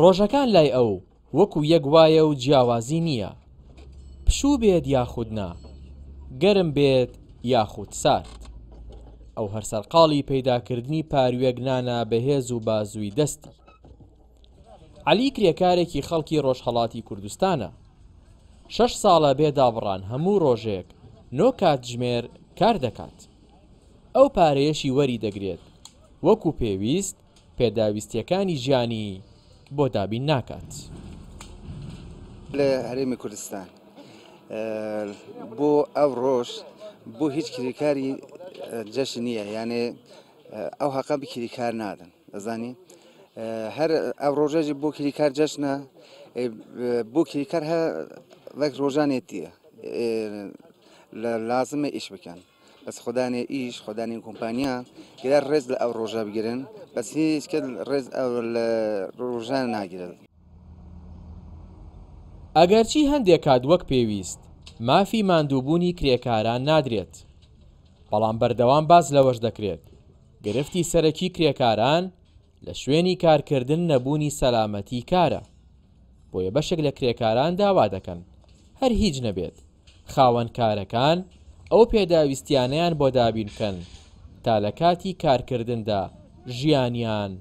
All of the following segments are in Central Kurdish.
ڕۆژەکان لای ئەو وەکو یەک وایە و جیاوازی نییە، پشوو بێت یاخود نا، گەرم بێت یاخود سارد. ئەو هەر سەرقاڵی پەیداکردنی پارویەک نانە بە هێز و بازووی دەستی. عەلی کرێکارێکی خەڵکی ڕۆژهەڵاتی کوردستانە. شەش ساڵە بێ دابڕان هەموو ڕۆژێک نۆ کاتژمێر کار دەکات. ئەو پارەیەشی وەری دەگرێت وەکو پێویست پێداویستییەکانی ژیانی بۆ دابین ناکات. لە هەرێمی کوردستان بۆ ئەو ڕۆژ بۆ هیچ کرێکاری جەژن نییە یانێ ئەو هەقە بە کریکار نادەن ئەزانی هەر ئەو ڕۆژەژی بۆ کریکار جەژنە بۆ کریکار هە وەک ڕۆژانێتیە لە لازمە ئیش بکەن بەس خودانێ ئیش خودانی کۆمپانیا گرا ڕێز لە ئەو ڕۆژە بگرن بەس هیچ کەس ڕێز ئەو لە ڕۆژان ناگرن. ئەگەرچی هەندێک کات وەک پێویست مافی ماندووبوونی کرێکاران نادرێت، بەڵام بەردەوام باس لەوەش دەکرێت گرفتی سەرەکی کرێکاران لە شوێنی کارکردن نەبوونی سەلامەتی کارە، بۆیە بەشێک لە کرێکاران داوا دەکەن هەر هیچ نەبێت خاوەن کارەکان ئەو پێداویستیانەیان بۆ دابین بکەن تا لە کاتی کارکردندا ژیانیان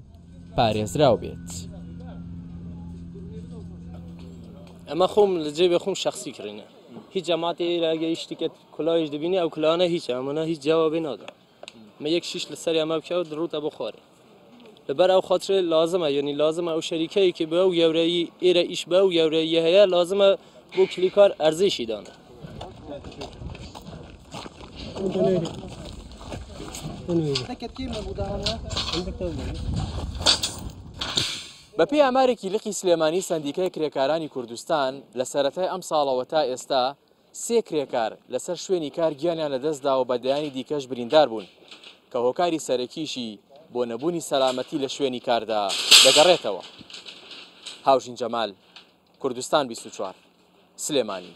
پارێزراو بێت. ئەمە خۆم لە جێبێ خۆم شەخسی کڕینە هیچ جەماعەتی ئێرە ئەگەر هیچ شتێکت کلایش دەبینی ئەو کلانە هیچە ئەمانە هیچ جوابی نادا مە یەک شیش لەسەر ئەمە بکە و دڕوتە بۆ خوارێ لەبەر ئەو خاطرە لازمە یعنی لازمە ئەو شەریکەیە کە بە ئەو گەورەیی ئێرە ئیش بە ئەو گەورەیی هەیە لازمە بۆ کلیکار ئەرزشی دانە. بەپێی ئامارێکی لقی سلێمانی سەندیکای کرێکارانی کوردستان لە سەرەتای ئەمساڵەوە تا ئێستا سێ کرێکار لەسەر شوێنی کار گیانیان لەدەستدا و بە دەیانی دیکەش بریندار بوون، کە هۆکاری سەرەکیشی بۆ نەبوونی سەلامەتی لە شوێنی کاردا دەگەڕێتەوە. هاوژین جەمال، کوردستان 24، سلێمانی.